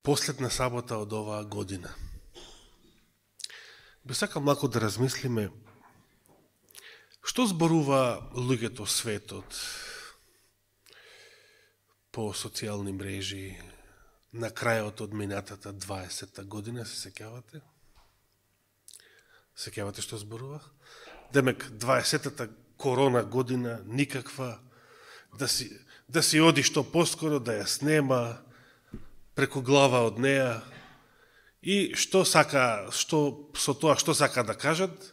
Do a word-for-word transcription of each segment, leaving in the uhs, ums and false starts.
последна сабота од оваа година. Би сакал малку да размислиме што зборува луѓето светот по социјални мрежи на крајот од минатата дваесетта година, се сеќавате? Сеќавате што зборувах? Демек, дваесеттата корона година, никаква, да си, да си оди што поскоро, да ја снема, преку глава од неа, и што сака, што, со тоа што сака да кажат,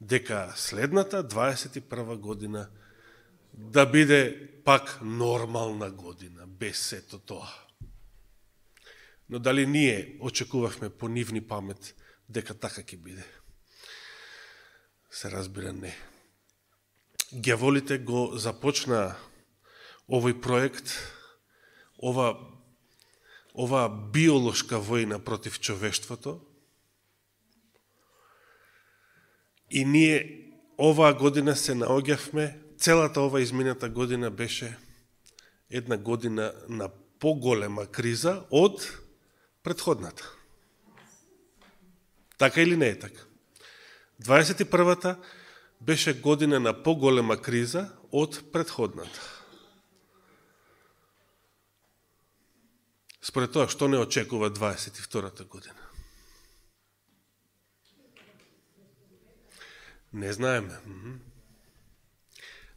дека следната дваесет и прва година да биде пак нормална година, без сето тоа. Но дали ние очекувавме по нивни памет дека така ќе биде? Се разбира не. Гјаволите го започна овој проект, ова, ова биолошка војна против човештвото, и ние оваа година се наоѓавме, целата ова измината година беше една година на поголема криза од претходната. Така или не е така? дваесет и првата беше година на поголема криза од претходната. Според тоа, што не очекува дваесет и втората година? Не знаеме.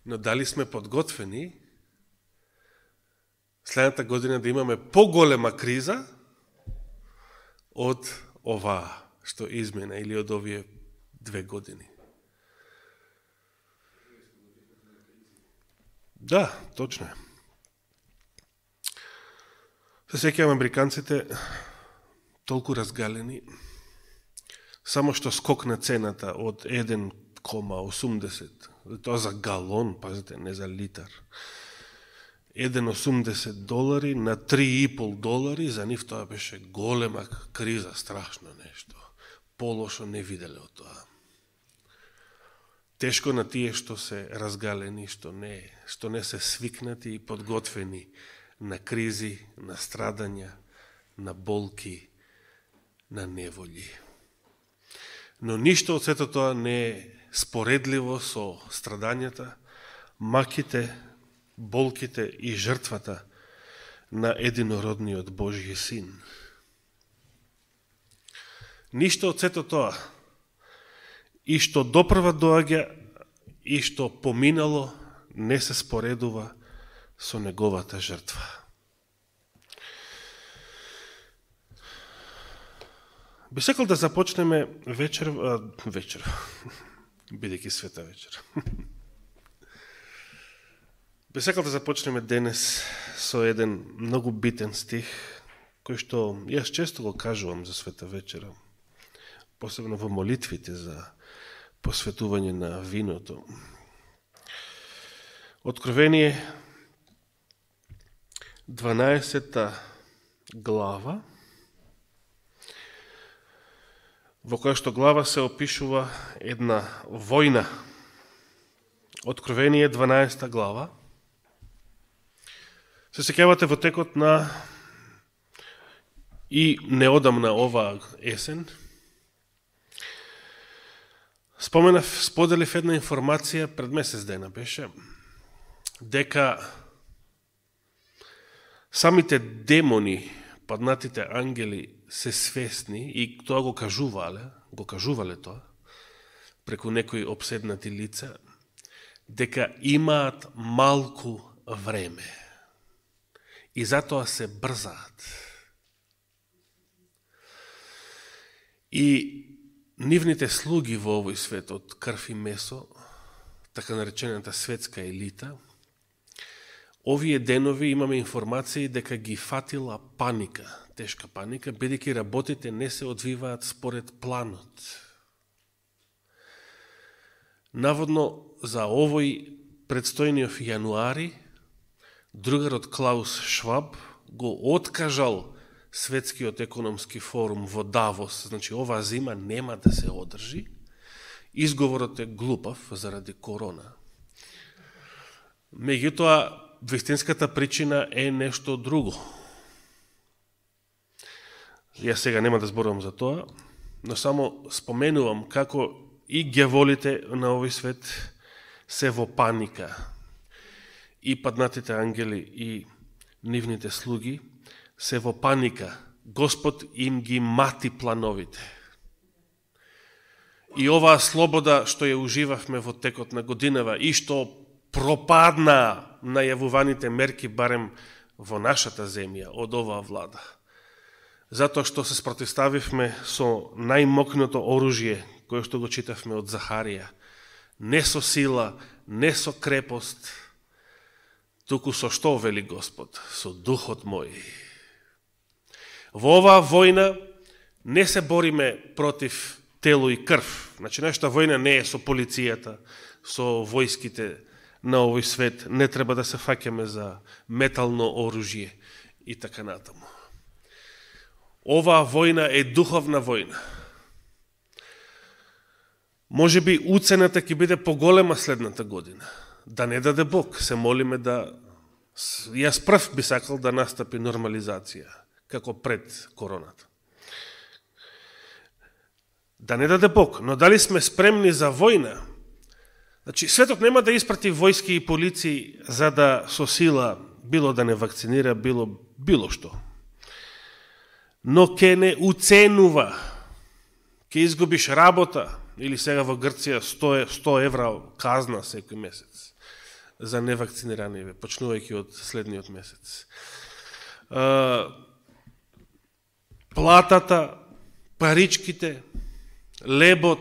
Но дали сме подготвени следната година да имаме поголема криза од оваа што измена или од овие две години? Да, точно е. Се сеќавам американците толку разгалени, само што скокна цената од еден кома осумдесет, тоа за галон, пазите, не за литар, еден кома осумдесет долари на три и пол долари, за нив тоа беше голема криза, страшно нешто. Полошо не виделе од тоа. Тешко на тие што се разгалени, што не, што не се свикнати и подготвени на кризи, на страдања, на болки, на неволји. Но ништо од сето тоа не е споредливо со страдањата, маките, болките и жртвата на единородниот Божји син. Ништо од сето тоа, и што допрва доаѓа, и што поминало, не се споредува со неговата жртва. Би сакал да започнеме вечер, а, вечер, бидејќи света вечер. Би сакал да започнеме денес со еден многу битен стих, кој што јас често го кажувам за света вечера, посебно во молитвите за посветување на виното. Откровение, дванаесетта глава, во која што глава се опишува една војна. Откровение, дванаесетта глава. Се сеќавате во текот на и неодамна оваа есен, споменав, споделив една информација пред месец дена беше, дека самите демони, паднатите ангели се свесни и тоа го кажувале, го кажувале тоа, преку некои обседнати лица, дека имаат малку време и затоа се брзаат. И нивните слуги во овој свет од крв и месо, така наречената светска елита, овие денови имаме информации дека ги фатила паника, тешка паника, бидејќи работите не се одвиваат според планот. Наводно за овој предстојниот јануари, другарот Клаус Шваб го откажал Светскиот економски форум во Давос, значи оваа зима нема да се одржи. Изговорот е глупав заради корона. Меѓутоа, вистинската причина е нешто друго. Јас сега нема да зборувам за тоа, но само споменувам како и ѓаволите на овој свет се во паника. И паднатите ангели и нивните слуги се во паника. Господ им ги мати плановите. И оваа слобода што ја уживавме во текот на годинава и што пропадна најавуваните мерки барем во нашата земја од оваа влада. Затоа што се спротивставивме со најмокното оружје кое што го читавме од Захарија. Не со сила, не со крепост, туку со што, вели Господ? Со духот мој. Во оваа војна не се бориме против тело и крв. Значи, нашата војна не е со полицијата, со војските на овој свет. Не треба да се фаќаме за метално оружје и така натаму. Оваа војна е духовна војна. Може би уцената ќе биде поголема следната година. Да не даде Бог, се молиме да... Јас прв би сакал да настапи нормализација, како пред короната. Да не даде Бог, но дали сме спремни за војна? Значи, светот нема да испрати војски и полиции за да со сила, било да не вакцинира, било, било што. Но ке не уценува, ке изгубиш работа, или сега во Грција сто евра казна секој месец за невакцинирани, почнувајќи од следниот месец. Платата, паричките, лебот,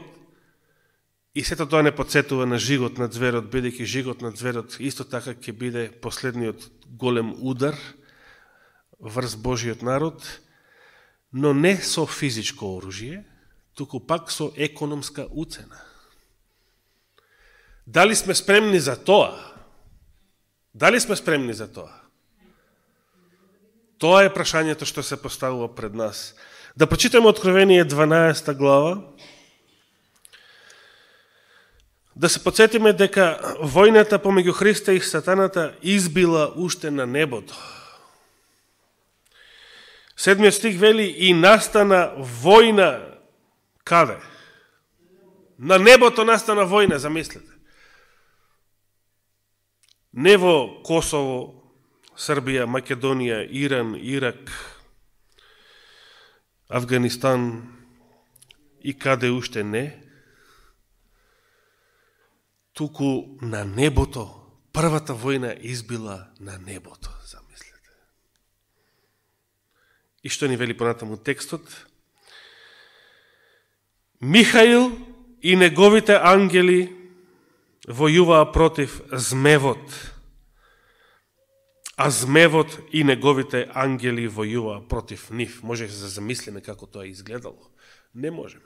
и сето тоа не подсетува на жигот на зверот, бидејќи жигот на зверот исто така ќе биде последниот голем удар врз Божиот народ, но не со физичко оружје, туку пак со економска уцена. Дали сме спремни за тоа? Дали сме спремни за тоа? Тоа е прашањето што се поставува пред нас. Да прочитаме Откровение дванаесета глава, да се подсетиме дека војната помеѓу Христа и Сатаната избила уште на небото. Седмиот стих вели: и настана војна. Каде? На небото настана војна, замислете. Не во Косово, Србија, Македонија, Иран, Ирак, Афганистан и каде уште не, туку на небото. Првата војна избила на небото, замислете. И што ни вели понатаму текстот? Михаил и неговите ангели војуваа против змевот, а змевот и неговите ангели војуваа против нив. Може да се замислиме како тоа изгледало? Не можеме.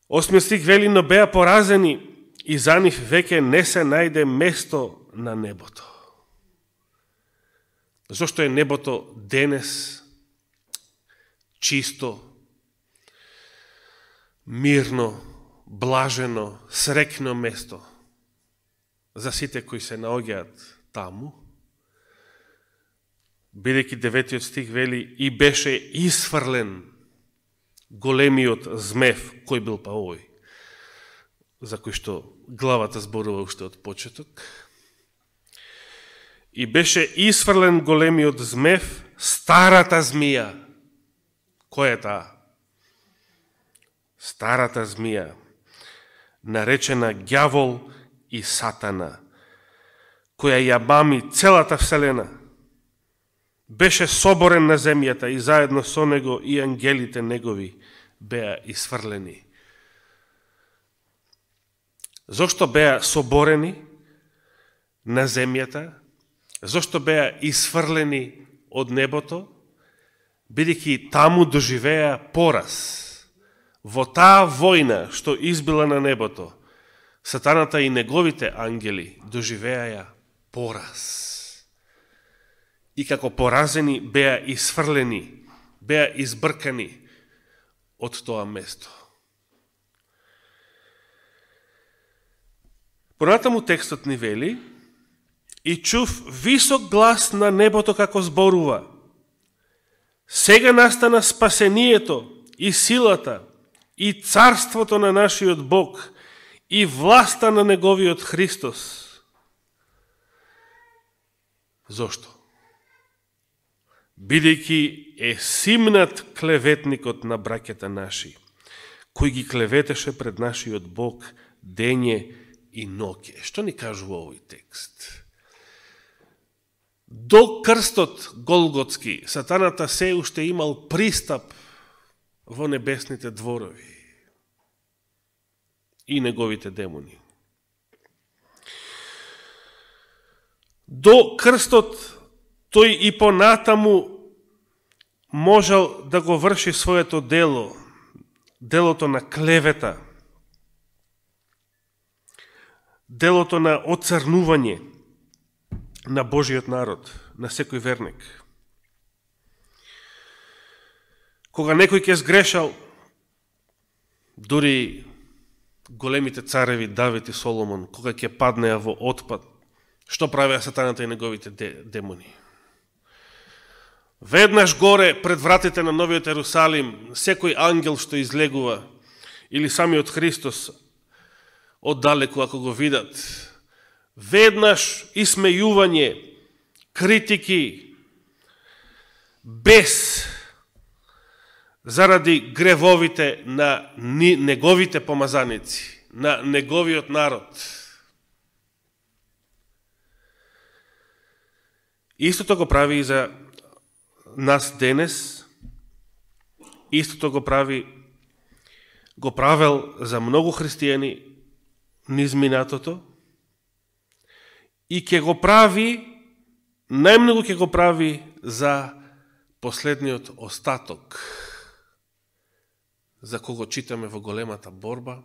Осмиот стих вели: но беа поразени и за нив веќе не се најде место на небото. Зошто е небото денес чисто, мирно, блажено, срекно место за сите кои се наоѓаат таму, бидејќи деветиот стих вели: и беше исфрлен големиот змев, кој бил па овој, за кој што главата зборува уште од почеток. И беше исфрлен големиот змев, старата змија. Кој е таа? Старата змија, наречена ѓавол и сатана, која ја мами целата вселена. Беше соборен на земјата и заедно со него и ангелите негови беа исфрлени. Зошто беа соборени на земјата? Зошто беа исфрлени од небото? Бидејќи таму доживеа пораз. Во таа војна што избила на небото, Сатаната и неговите ангели доживеаја пораз. И како поразени беа исфрлени, беа избркани од тоа место. Понатаму текстот ни вели: и чув висок глас на небото како зборува: сега настана спасението и силата и царството на нашиот Бог и власта на неговиот Христос. Зошто? Бидејќи е симнат клеветникот на браќата наши, кој ги клеветеше пред нашиот Бог дење и ноќе. Што ни кажува овој текст? До крстот Голготски, сатаната се уште имал пристап во небесните дворови и неговите демони. До крстот тој и понатаму можел да го врши своето дело, делото на клевета, делото на оцрнување на Божиот народ, на секој верник. Кога некој ќе сгрешал, дури големите цареви Давид и Соломон, кога ќе паднеа во отпад, што правеа сатаната и неговите демони? Веднаш горе пред вратите на Новиот Ерусалим, секој ангел што излегува, или самиот Христос, оддалеку ако го видат, веднаш исмејување, критики, без заради гревовите на неговите помазаници, на неговиот народ. Истото го прави и за нас денес, истото го прави, го правел за многу христијани низ минатото, и ќе го прави, најмногу ќе го прави за последниот остаток, за кого читаме во големата борба,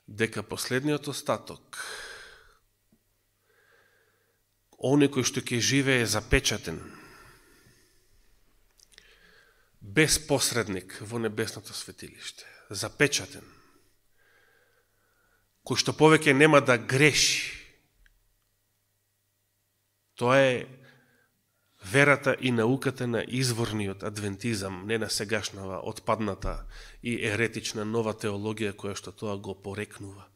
дека последниот остаток, оној кој што ќе живее запечатен, без посредник во небесното светилиште, запечатен, кој што повеќе нема да греши. Тоа е верата и науката на изворниот адвентизам, не на сегашнава отпадната и еретична нова теологија која што тоа го порекнува.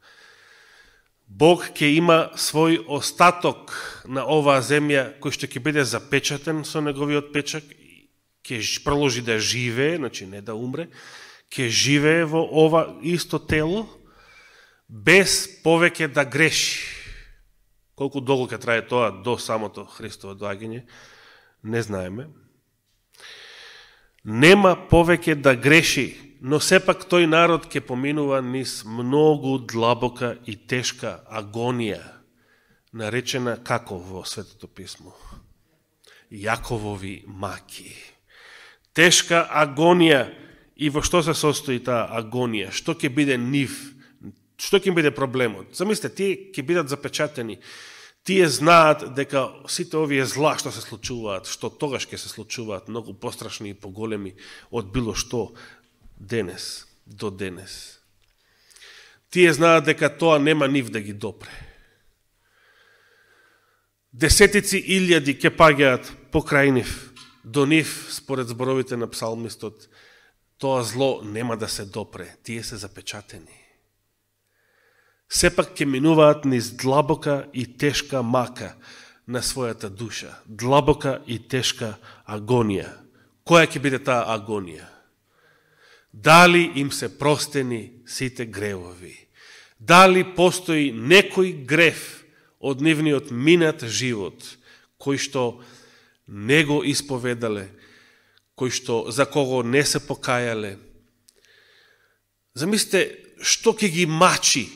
Бог ќе има свој остаток на оваа земја кој што ќе биде запечатен со неговиот печак, ќе продолжи да живее, значи не да умре, ќе живее во ова исто тело без повеќе да греши. Колку долго ќе трае тоа до самото Христово доаѓање, не знаеме. Нема повеќе да греши, но сепак тој народ ќе поминува низ многу длабока и тешка агонија, наречена како во Светото писмо? Јаковови маки. Тешка агонија. И во што се состои таа агонија? Што ќе биде нив? Што ќе биде проблемот? Замислете, тие ќе бидат запечатени. Тие знаат дека сите овие зла што се случуваат, што тогаш ќе се случуваат, многу пострашни и поголеми од било што денес, до денес. Тие знаат дека тоа нема нив да ги допре. Десетици илјади ќе паѓаат покрај нив, до нив, според зборовите на псалмистот, тоа зло нема да се допре, тие се запечатени. Сепак ќе минуваат низ длабока и тешка мака на својата душа, длабока и тешка агонија. Која ќе биде таа агонија? Дали им се простени сите гревови? Дали постои некој грев од нивниот минат живот, кој што не го исповедале, кој што за кого не се покајале? Замислите, што ќе ги мачи?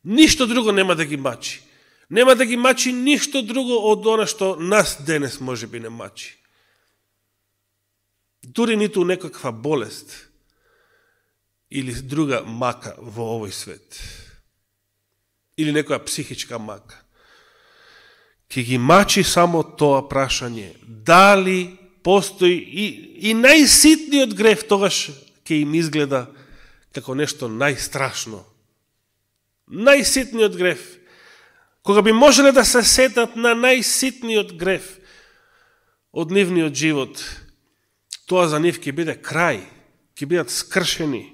Ништо друго нема да ги мачи. Нема да ги мачи ништо друго од она што нас денес може би не мачи. Дури ниту некаква болест или друга мака во овој свет. Или некоја психичка мака. Ке ги мачи само тоа прашање. Дали постои и, и најситниот грев тогаш ке им изгледа како нешто најстрашно. Најситниот грев. кога би можеле да се сетат на најситниот греф од нивниот живот, тоа за нив ќе биде крај, ќе бидат скршени,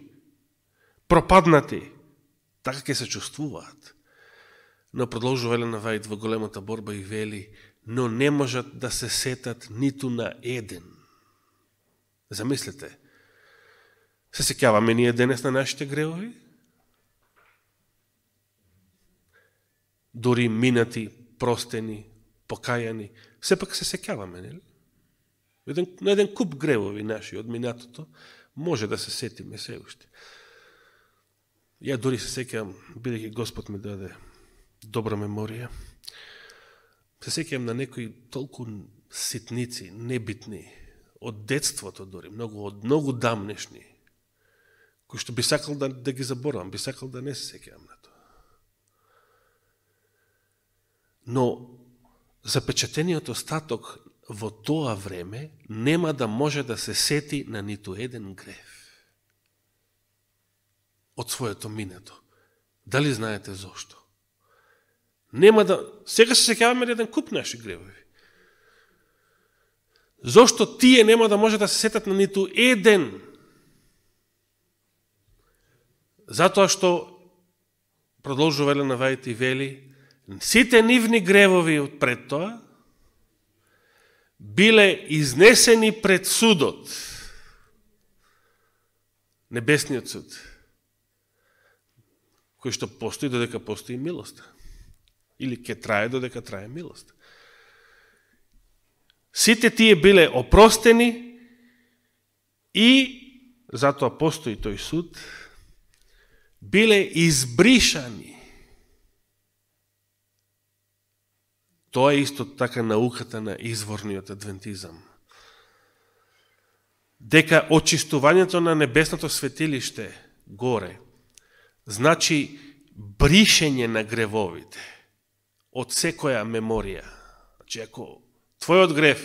пропаднати, така ќе се чувствуваат. Но продолжува Елена Вајд во големата борба и вели, но не можат да се сетат ниту на еден. Замислете, се сеќаваме ние денес на нашите гревови? Дори минати, простени, покајани, сепак се сеќаваме, нели? На еден куп гревови наши од минатото може да се сетиме се уште. Ја дори се сеќавам, бидејќи Господ ми даде добра меморија, се сеќавам на некои толку ситници, небитни, од детството дори, многу, од многу дамнешни, кои што би сакал да, да ги заборавам, би сакал да не се сеќавам на тоа. Но запечатениот остаток во тоа време нема да може да се сети на ниту еден греф од своето минато. Дали знаете зошто? Нема да... Сега се сеќаваме на еден куп наши гревови. Зошто тие нема да може да се сетат на ниту еден? Затоа што продолжува Елена Вајд и вели, сите нивни гревови од пред тоа биле изнесени пред судот. Небесниот суд, кој што постои додека постои милост. Или ќе трае додека трае милост. Сите тие биле опростени и, затоа постои тој суд, биле избришани. Тоа е исто така науката на изворниот адвентизам. Дека очистувањето на небесното светилиште горе значи бришење на гревовите од секоја меморија. Значи, ако твојот грев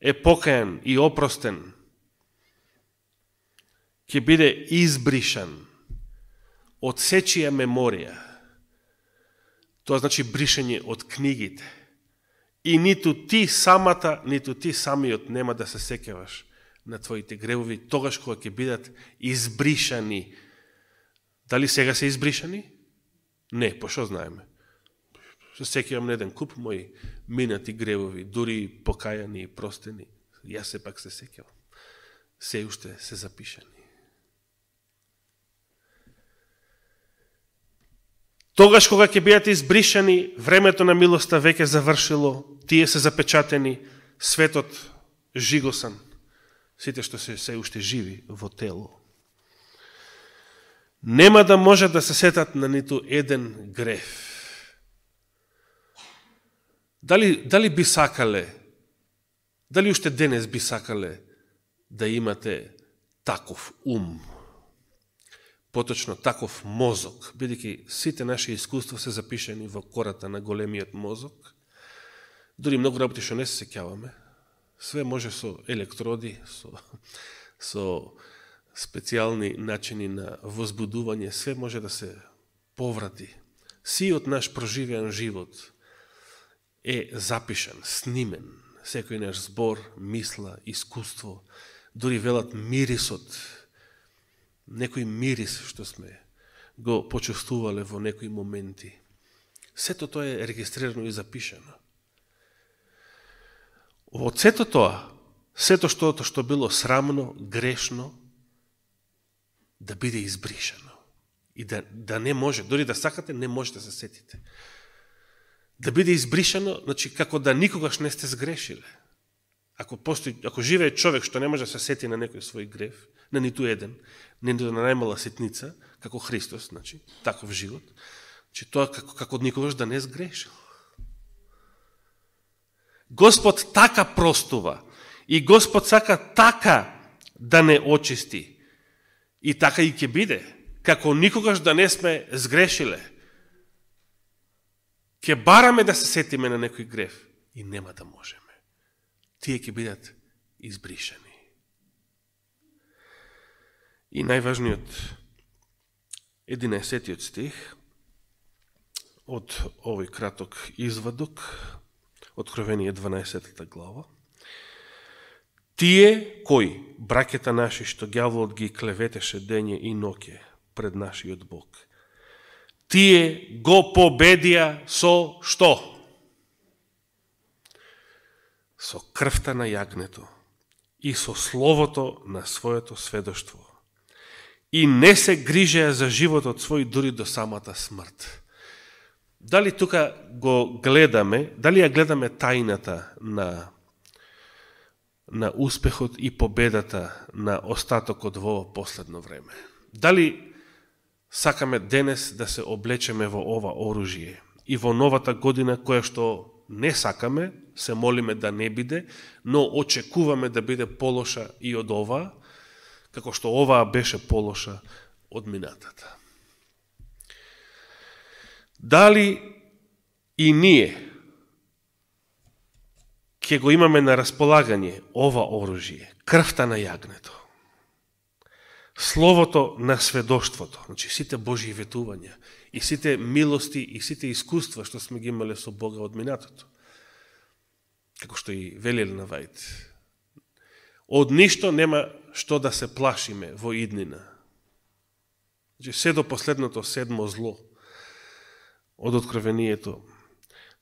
е покајан и опростен, ќе биде избришан од сечија меморија. Тоа значи бришење од книгите. И ниту ти самата, ниту ти самиот нема да се сеќаваш на твоите гревови, тогаш кога ќе бидат избришани. Дали сега се избришани? Не, по што знаеме? Се сеќавам на еден куп мои минати гревови, дури покајани и простени. Јас се пак се сеќавам. Се уште се запишани. Тогаш кога ќе бидат избришани, времето на милоста веќе завршило, тие се запечатени, светот жигосан, сите што се се уште живи во тело. Нема да може да се сетат на ниту еден греф. Дали, дали би сакале, дали уште денес би сакале да имате таков ум, поточно таков мозок, бидејќи сите наши искуства се запишени во кората на големиот мозок, дури многу работи што не се сеќаваме, све може со електроди, со, со специјални начини на возбудување, све може да се поврати. Сиот наш проживеан живот е запишан, снимен, секој наш збор, мисла, искуство, дури велат мирисот, некој мирис што сме го почувствувале во некои моменти. Сето тоа е регистрирано и запишано. Од сето тоа, сето што, што било срамно, грешно, да биде избришано. И да, да не може, дори да сакате, не може да се сетите. Да биде избришано, значи како да никогаш не сте сгрешиле. Ако постои, ако живее човек што не може да се сети на некој свој грев, на ниту еден, ниту на најмала ситница, како Христос, значи, таков живот, че тоа како, како никогаш да не сгрешил. Господ така простува и Господ сака така да не очисти и така и ќе биде, како никогаш да не сме сгрешиле. Ќе бараме да се сетиме на некој грев и нема да можеме. Тие ќе бидат избришани. И најважниот единаесеттиот стих од овој краток извадок, Откровение дванаесетта глава. Тие кои, браќата наши, што ѓаволот ги клеветеше дење и ноќе пред нашиот Бог, тие го победија со што? Со крвта на јагнето и со словото на своето сведоштво. И не се грижеа за животот свој дури до самата смрт. Дали тука го гледаме, дали ја гледаме тајната на, на успехот и победата на остатокот во ово последно време? Дали сакаме денес да се облечеме во ова оружје и во новата година, која што не сакаме, се молиме да не биде, но очекуваме да биде полоша и од оваа, како што оваа беше полоша од минатата. Дали и ние ќе го имаме на располагање ова оружје, крвта на јагнето, словото на сведоштвото, значи сите Божји ветувања и сите милости и сите искуства што сме ги имале со Бога од минатото, како што и вели Елена Вајд, од ништо нема што да се плашиме во иднина. Значи, се до последното седмо зло од Откровението,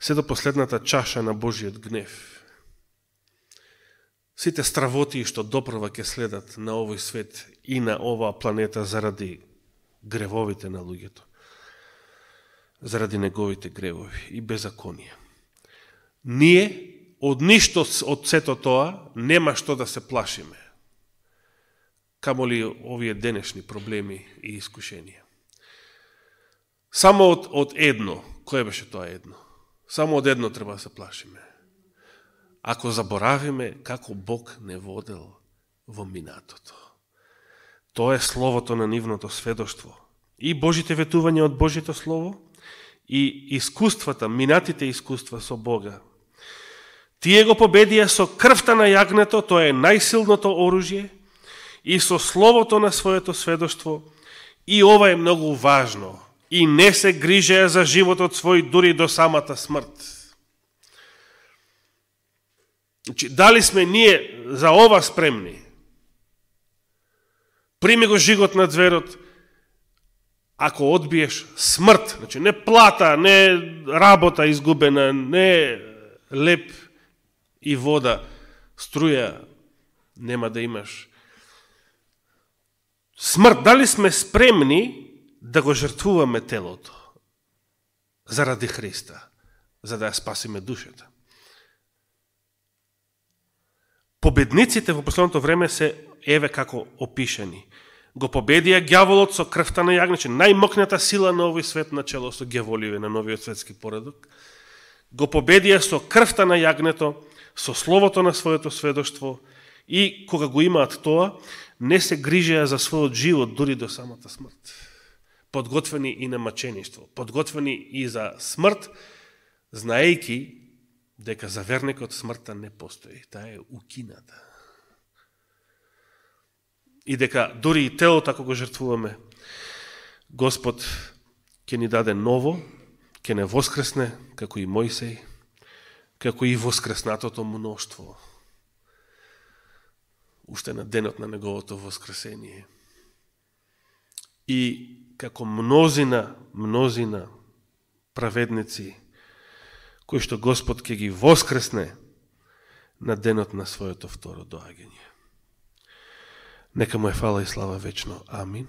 се до последната чаша на Божиот гнев, сите стравоти што допрва ќе следат на овој свет и на оваа планета заради гревовите на луѓето, заради неговите гревови и беззаконија. Ние од ништо од сето тоа нема што да се плашиме, камоли овие денешни проблеми и искушенија. Само од, од едно, кое беше тоа едно? Само од едно треба да се плашиме. Ако заборавиме како Бог не водел во минатото. Тоа е словото на нивното сведоштво. И Божите ветувања од Божито слово, и искуствата, минатите искуства со Бога. Тие го победија со крвта на јагнето, тоа е најсилното оружје, и со словото на своето сведоштво, и ова е многу важно, и не се грижеа за животот свој дури до самата смрт. Значи, дали сме ние за ова спремни? Прими го жигот на зверот, ако одбиеш смрт, значи не плата, не работа изгубена, не леп и вода, струја нема да имаш. Смрт, дали сме спремни да го жртвуваме телото заради Христа, за да ја спасиме душата? Победниците во последното време се еве како опишани. Го победија ѓаволот со крвта на јагнето, најмокната сила на овој свет на чело со ѓаволиве на новиот светски поредок. Го победија со крвта на јагнето, со словото на своето сведоштво, и кога го имаат тоа, не се грижеа за својот живот дури до самата смрт. Подготвени и на мачеништво, подготвени и за смрт, знаејки дека за верникот смртта не постои, таа е укината. И дека дури и телото, ако го жртвуваме, Господ ќе ни даде ново, ќе не воскресне, како и Мојсей, како и воскреснатото мноштво, уште на денот на неговото воскресение. И како мнозина, мнозина праведници, кои што Господ ќе ги воскресне на денот на своето второ доаѓање. Нека му е фала и слава вечно. Амин.